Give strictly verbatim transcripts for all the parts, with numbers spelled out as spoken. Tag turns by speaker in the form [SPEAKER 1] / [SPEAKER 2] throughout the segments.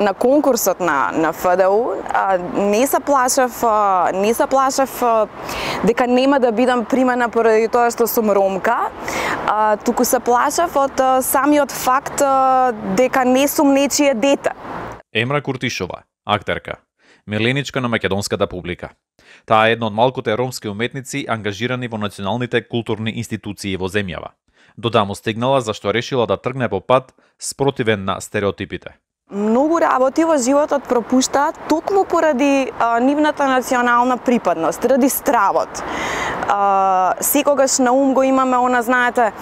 [SPEAKER 1] на конкурсот на на Ф Д У не се плашев, не се плашев дека нема да бидам примена поради тоа што сум ромка, туку се плашев од самиот факт дека не сум нечие дете.
[SPEAKER 2] Емра Куртишова, актерка, миленичка на македонската публика. Таа е една од малкуте ромски уметници ангажирани во националните културни институции во земјава. Додаму стигнала зашто решила да тргне по пат спротивен на стереотипите.
[SPEAKER 1] Многу работи во животот пропуштаат токму поради а, нивната национална припадност, ради стравот. А, секогаш на ум го имаме она, знаете,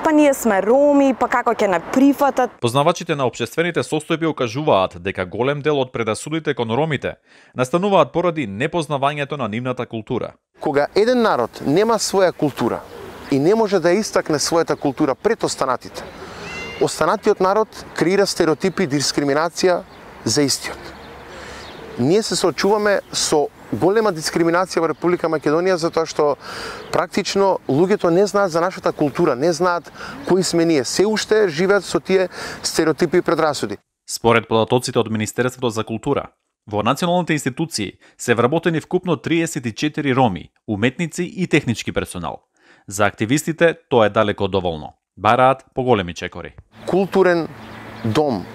[SPEAKER 1] па ние сме роми, па како ќе не прифатат.
[SPEAKER 2] Познавачите на општествените состојби окажуваат дека голем дел од предасудите кон ромите настануваат поради непознавањето на нивната култура.
[SPEAKER 3] Кога еден народ нема своја култура и не може да истакне својата култура пред останатите, останатиот народ креира стереотипи и дискриминација за истиот. Ние се соочуваме со голема дискриминација во Република Македонија затоа што практично луѓето не знаат за нашата култура, не знаат кои сме ние, се уште живеат со тие стереотипи и предрасуди.
[SPEAKER 2] Според податоците од Министерството за култура, во националните институции се вработени вкупно триесет и четири роми, уметници и технички персонал. За активистите тоа е далеко доволно. Бараат поголеми чекори.
[SPEAKER 3] Културен дом,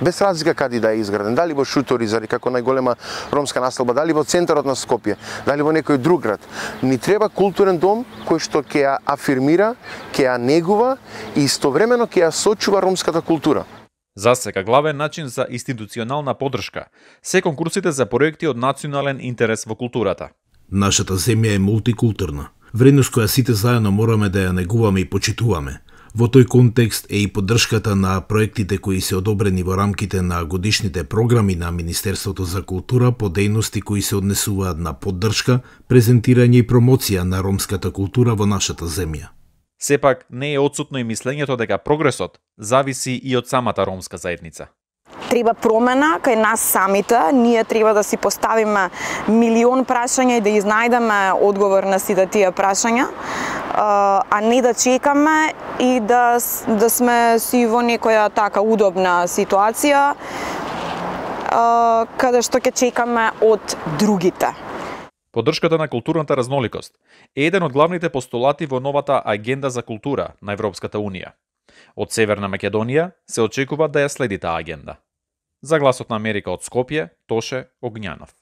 [SPEAKER 3] без разлика каде да е изграден, дали во Шуторизари како најголема ромска населба, дали во центарот на Скопје, дали во некој друг град. Ни треба културен дом кој што ќе ја афирмира, ќе ја негува и истовремено ќе ја сочува ромската култура.
[SPEAKER 2] За сега главен начин за институционална поддршка се конкурсите за проекти од национален интерес во културата.
[SPEAKER 4] Нашата земја е мултикултурна, вредност која сите заедно мораме да ја негуваме и почитуваме. Во тој контекст е и поддршката на проектите кои се одобрени во рамките на годишните програми на Министерството за култура по дејности кои се однесуваат на поддршка, презентирање и промоција на ромската култура во нашата земја.
[SPEAKER 2] Сепак не е отсутно и мислењето дека прогресот зависи и од самата ромска заедница.
[SPEAKER 1] Треба промена кај нас самите, ние треба да си поставиме милион прашања и да изнајдеме одговор на сите тие прашања, а не да чекаме и да, да сме си во некоја така удобна ситуација каде што ќе чекаме од другите.
[SPEAKER 2] Поддршката на културната разноликост е еден од главните постулати во новата агенда за култура на Европската Унија. Од Северна Македонија се очекува да ја следи таа агенда. За Гласот на Америка од Скопје, Тоше Огњанов.